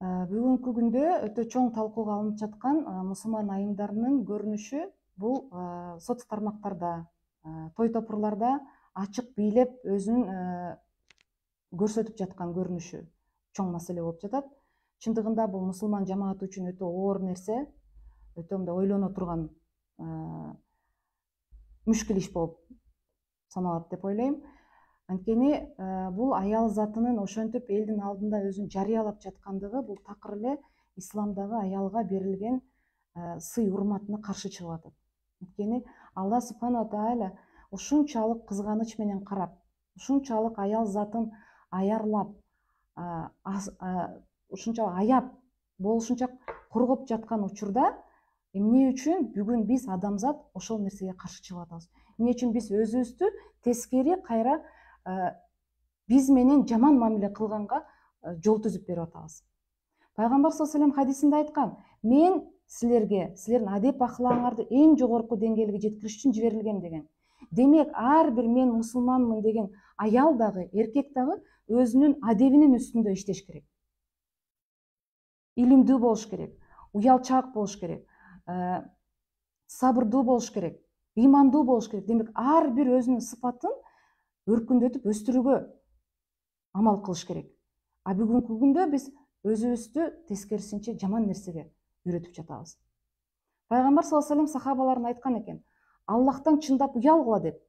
Бүгүнкү күндө өтө чоң талкууга алынып жаткан мусулман айымдарынын көрүнүшү бул соц тармактарда, той топурларда ачык бийлеп өзүн көрсөтүп жаткан көрүнүшү чоң маселе болуп жатат. Чындыгында бул мусулман жамааты үчүн өтө оор нерсе, өтө мындай ойлоно турган мүшкүл иш болуп саналат деп ойлойм. Анткени бул аял затынын ошентип элдин алдында өзүн жарыялап жаткандыгы бул такыр эле исламдагы аялга берилген сый урматына каршы чыгып атат. Анткени Алла субхана тааля ушунчалык кызганыч менен карап, ушунчалык аял затын аярлап, ушунчалык аяп, болушунча коргоп жаткан учурда эмне үчүн бүгүн биз адамзат ошол нерсеге каршы чыгып атабыз? Эмне үчүн биз өзүбүздү тескери кайра биз менен жаман мамиле кылганга жол түзүп берип атабыз? Пайгамбар саллаллаху алейхи хадисинде айткан: мен силерге силердин адеп акылаңарды эң жогорку деңгээлге жеткириш үчүн жиберилгем деген. Демек, ар бир мен мусулманмын деген аял дагы, эркек дагы өзүнүн адебинин үстүндө иштеш керек. Илимдүү болуш керек, уялчаак болуш керек, сабырдуу болуш керек, ыймандуу болуш керек. Демек, ар бир өзүнүн сыпатын өркүндөтүп өстүрүүгө амал кылыш керек. А бүгүнкү күндө биз өзүбүздү тескерисинче жаман нерсеге үйрөтүп жатабыз. Пайгамбар саллаллаху алейхи сахабаларына айткан экен: Аллахтан чындап уялгыла деп.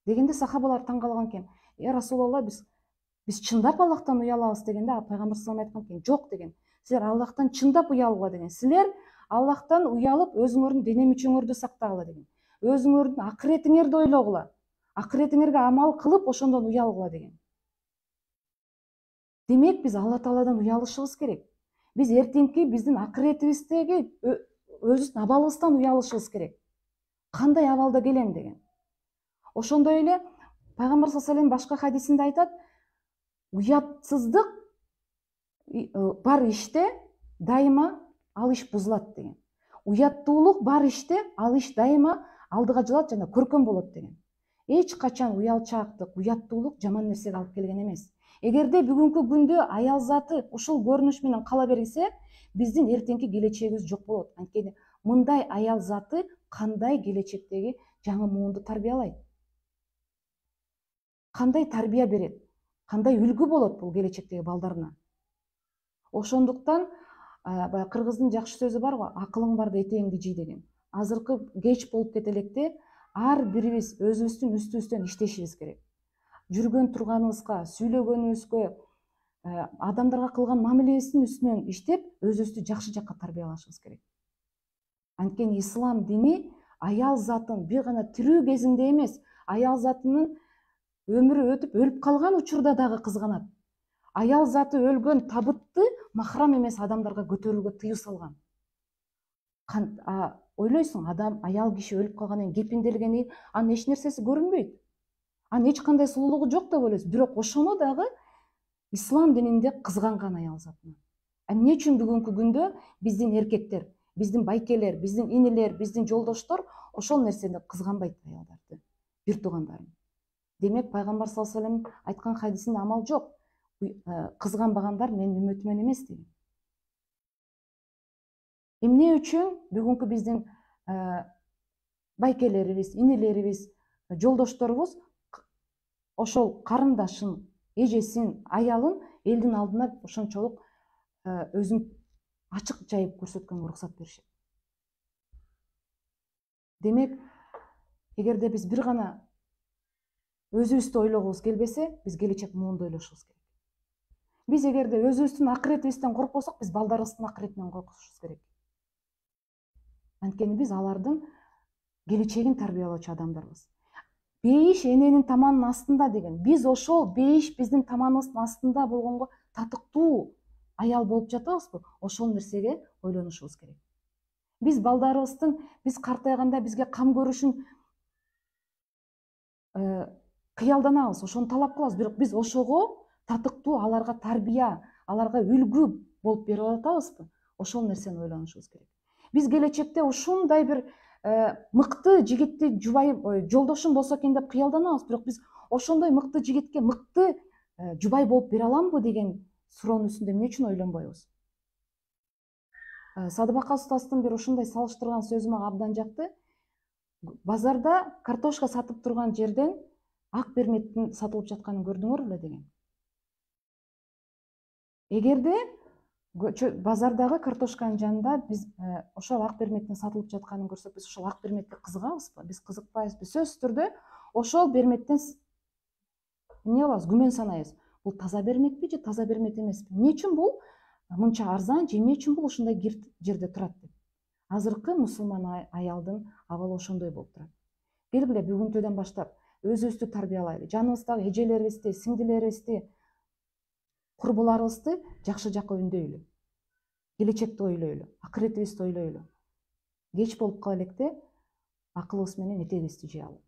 Дегенде сахабалар таң калган экен: Расулалла, биз чындап Аллахтан уялабыз дегенде, Пайгамбар саллаллаху алейхи айткан экен: жок деген. Силер Аллахтан чындап уялгыла деген. Силер Аллахтан уялып өзүңөрдүн дене мүчөңөрдү сактагыла деген. Өзүңөрдүн акыретиңерди ойлогула. Акыретиңерге амал кылып ошондон уялгыла деген. Демек, биз Алла Тааладан уялышыбыз керек. Биз эртеңки биздин акыретибиздеги өзүбүздүн абалыбыздан уялышыбыз керек. Кандай абалда келем деген. Ошондой эле Пайгамбар саллаллаху алейхи башка хадисинде айтат: уятсыздык бар иште дайыма ал иш бузулат деген. Уяттуулук бар иште ал иш дайыма алдыга жылат жана көркөм болот деген. Эч качан уялчаактык, уяттуулук жаман нерсеге алып келген эмес. Эгерде бүгүнкү күндө аял заты ушул көрүнүш менен кала берсе, биздин эртеңки келечегибиз жок болот. Анткени мындай аял заты кандай келечектеги жаңы муунду тарбиялайт? Кандай тарбия берет? Кандай үлгү болот бул келечектеги балдарына? Ошондуктан баягы кыргыздын жакшы сөзү бар го: акылың барда этегиңди жый деген. Азыркы кеч болуп кете электе ар бирибиз өзүбүздүн үстүбүздөн иштешибиз керек. Жүргөн турганыбызга, сүйлөгөнүбүзгө, адамдарга кылган мамилебиздин үстүнөн иштеп, өзүбүздү жакшы жакка тарбиялашыбыз керек. Анткени ислам дини аял затын бир гана тирүү кезинде эмес, аял затынын өмүрү өтүп өлүп калган учурда дагы кызганат. Аял заты өлгөн табытты махрам эмес адамдарга көтөрүүгө тыюу салган. Ойлойсуң, аял киши өлүп калгандан кийин кепинделгени, анын эч нерсеси көрүнбөйт. Анын эч кандай сулуулугу жок деп ойлойсуң. Бирок ошону дагы ислам дининде кызганган аял затына. Эмне үчүн бүгүнкү күндө биздин эркектер, биздин байкелер, биздин инилер, биздин жолдоштор ошол нерсени кызганбайт аялдарды, бир туугандарын? Демек, Пайгамбар саллаллаху алейхи вассалам айткан хадисинде амал жок. Кызганбагандар менин үммөтүмөн эмес деген. Эмне үчүн бүгүнкү биздин байкелерибиз, инилерибиз, жолдошторубуз ошол карындашын, эжесин, аялын элдин алдына ошончолук өзүн ачык жайып көрсөткөнгө уруксат беришет? Демек, эгерде биз бир гана өзүбүздү ойлогубуз келбесе, биз келечек муунду ойлошубуз керек. Биз эгерде өзүбүздүн акыретибизден коркпосок, биз балдарыбыздын акыретинен коркушубуз керек. Анткени биз алардын келечегин тарбиялоочу адамдарбыз. Бейиш эненин таманынын астында деген. Биз ошол бейиш биздин таманыбыздын астында болгонго татыктуу аял болуп жатабызбы? Ошол нерсеге ойлонушубуз керек. Биз балдарыбыздын биз картайганда бизге кам көрүшүн кыялданабыз, ошону талап кылабыз. Бирок биз ошого татыктуу аларга тарбия, аларга үлгү болуп берип атабызбы? Ошол нерсени ойлонушубуз керек. Биз келечекте ушундай бир мыкты жигитти жолдошум болсо экен деп кыялданабыз. Бирок биз ошондой мыкты жигитке мыкты жубай болуп бере аламбы деген суроонун үстүндө эмне үчүн ойлонбойбуз? Садыбака устаздын бир ушундай салыштырган сөзү мага абдан жакты. Базарда картошка сатып турган жерден ак берметтин сатылып жатканын көрдүңөр беле деген. Эгерде базардагы картошканын жанында биз ошол ак берметтин сатылып жатканын көрсөк, биз ошол ак берметке кызыгабызбы? Биз кызыкпайбызбы? Сөзсүз түрдө ошол берметтен эмне кылабыз? Күмөн санайбыз. Бул таза берметпи же таза бермет эмеспи? Эмне үчүн бул мынча арзан же эмне үчүн бул ушундай жерде турат деп. Азыркы мусулман аялдын абалы ошондой болуп турат. Келгиле бүгүнкүдөн баштап өзүбүздү тарбиялайлы. Жаныбыздагы эжелерибизди, сиңдилерибизди, курбуларыбызды жакшы жакка үндөйлү. Келечекти ойлойлу, акыретибизди ойлойлу. Кеч болуп кала электе акылыбыз менен этегибизди жыялы.